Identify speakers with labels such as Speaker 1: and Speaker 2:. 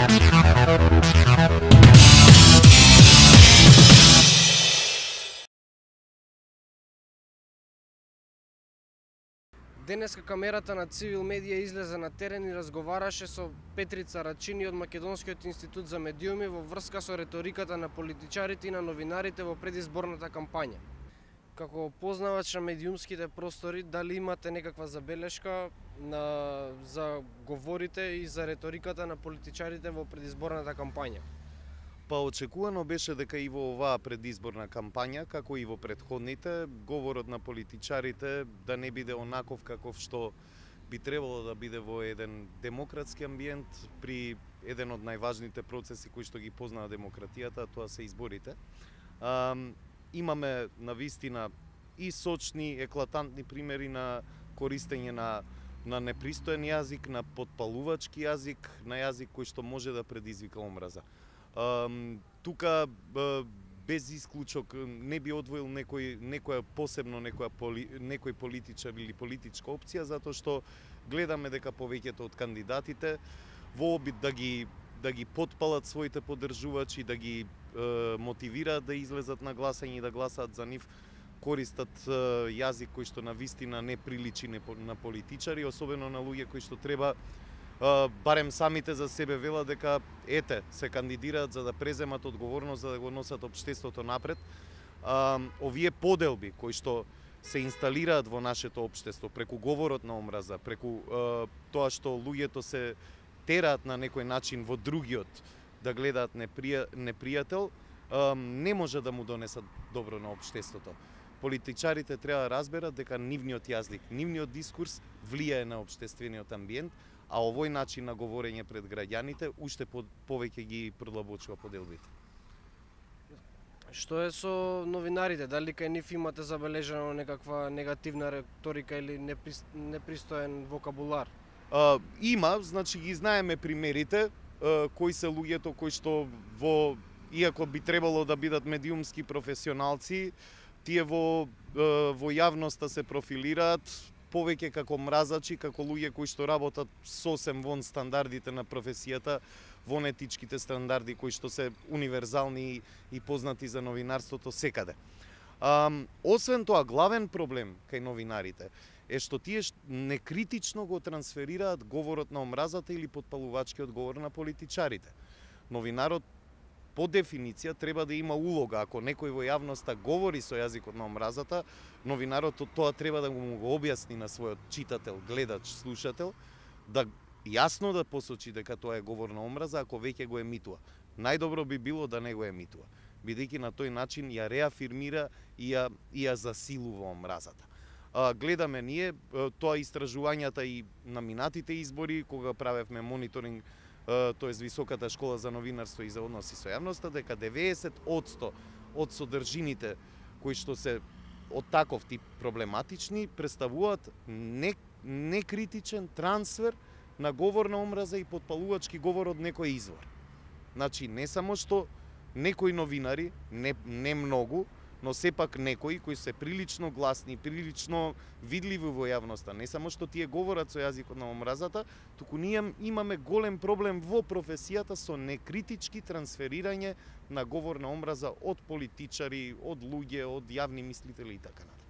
Speaker 1: Денеска камерата на Цивил Медија излезе на терен и разговараше со Петрица Рачини од Македонскиот институт за медиуми во врска со реториката на политичарите и на новинарите во предизборната кампања. Како познавач на медиумските простори, дали имате некаква забелешка за говорите и за реториката на политичарите во предизборната кампања?
Speaker 2: Па очекувано беше дека и во оваа предизборна кампања, како и во претходните, говорот на политичарите да не биде онаков каков што би требало да биде во еден демократски амбиент при еден од најважните процеси кои што ги познава демократијата, тоа се изборите. Имаме навистина и сочни, еклатантни примери на користење на непристоен јазик, на потпалувачки јазик, на јазик кој што може да предизвика омраза. Тука без исклучок не би одвоил некоја посебно некој политичар или политичка опција, затоа што гледаме дека повеќето од кандидатите во обид да ги потпалат своите поддржувачи, да ги мотивираат да излезат на гласање и да гласаат за нив, користат јазик кој што навистина не приличи на политичари, особено на луѓе кои што треба барем самите за себе велат дека се кандидираат за да преземат одговорност, за да го носат општеството напред. Овие поделби кои што се инсталираат во нашето општество преку говорот на омраза, преку тоа што луѓето се тераат на некој начин во другиот да гледаат непријател, не може да му донесат добро на општеството. Политичарите треба да разберат дека нивниот јазик, нивниот дискурс влијае на општествениот амбиент, а овој начин на говорење пред граѓаните уште повеќе ги продлабочува поделбите.
Speaker 1: Што е со новинарите? Дали кај нив имате забележано некаква негативна реторика или непристоен вокабулар?
Speaker 2: Има, значи ги знаеме примерите, кои се луѓето кои што иако би требало да бидат медиумски професионалци, тие во јавноста се профилираат повеќе како мразачи, како луѓе кои што работат сосем вон стандардите на професијата, вон етичките стандарди кои што се универзални и познати за новинарството секаде. Освен тоа, главен проблем кај новинарите е што тие некритично го трансферираат говорот на омразата или потпалувачкиот говор на политичарите. Новинарот по дефиниција треба да има улога. Ако некој во јавноста говори со јазикот на омразата, новинарот тоа треба да му го објасни на својот читател, гледач, слушател, да јасно да посочи дека тоа е говор на омраза, ако веќе го емитува. Најдобро би било да не го емитува, бидејќи на тој начин ја реафирмира и ја засилува омразата. Гледаме ние тоа истражувањата и на минатите избори, кога правевме мониторинг, тоест Високата школа за новинарство и за односи со јавноста, дека 90% од содржините кои што се од таков тип проблематични представуваат некритичен трансфер на говор на омраза и потпалувачки говор од некој извор. Значи, не само што некои новинари, не многу, но сепак некои кои се прилично гласни, прилично видливи во јавноста, не само што тие говорат со јазикот на омразата, туку ние имаме голем проблем во професијата со некритички трансферирање на говор на омраза од политичари, од луѓе, од јавни мислители и така натаму.